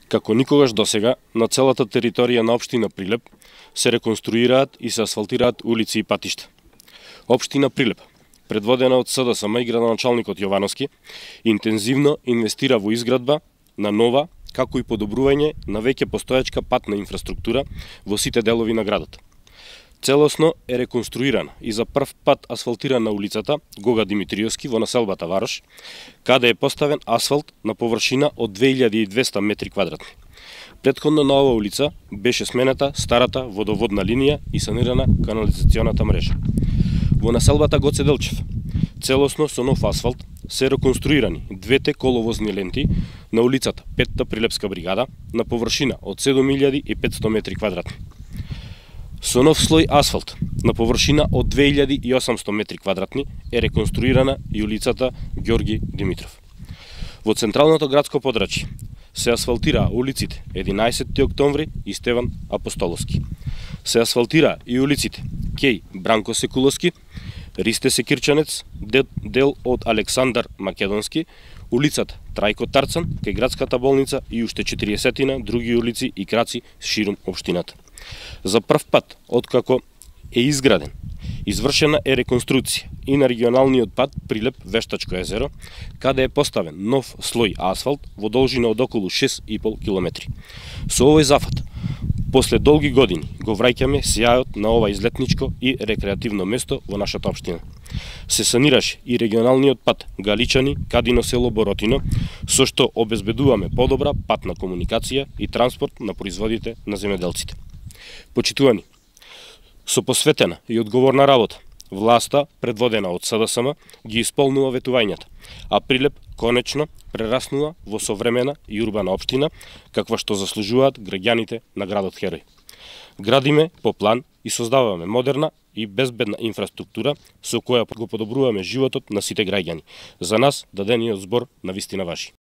Како никогаш досега, на целата територија на општина Прилеп се реконструираат и се асфалтираат улици и патишта. Општина Прилеп, предводена од СДСМ и градоначалникот Јовановски, интензивно инвестира во изградба на нова, како и подобрување на веќе постојачка патна инфраструктура во сите делови на градот. Целосно е реконструирана и за прв пат асфалтирана улицата Гога Димитриевски во населбата Варош, каде е поставен асфалт на површина од 2200 метри квадратни. Претходно на оваа улица беше смената старата водоводна линија и санирана канализационата мрежа. Во населбата Гоце Делчев, целосно со нов асфалт, се реконструирани двете коловозни ленти на улицата Петта Прилепска бригада на површина од 7500 метри квадратни. Со нов слој асфалт на површина од 2800 метри квадратни е реконструирана и улицата Ѓорги Димитров. Во централното градско подрачје се асфалтираа улиците 11 октомври и Стеван Апостоловски. Се асфалтираа и улиците Кеј Бранко Секуловски, Ристе Секирчанец, дел од Александар Македонски, улицата Трајко Тарцан, кај градската болница и уште 40 други улици и краци ширум општината. За прв пат, откако е изграден, извршена е реконструкција и на регионалниот пат Прилеп-Вештачко езеро, каде е поставен нов слој асфалт во должина од околу 6,5 километри. Со овој зафат, после долги години, го враќаме сјајот на ова излетничко и рекреативно место во нашата општина. Се санираше и регионалниот пат Галичани-Кадино село Боротино, со што обезбедуваме подобра патна комуникација и транспорт на производите на земјоделците. Почитувани, со посветена и одговорна работа, власта, предводена од СДСМ, ги исполнува ветувањата, а Прилеп конечно прераснува во современа и урбана општина, каква што заслужуваат граѓаните на градот Херој. Градиме по план и создаваме модерна и безбедна инфраструктура со која го подобруваме животот на сите граѓани. За нас дадениот збор на вистина важи.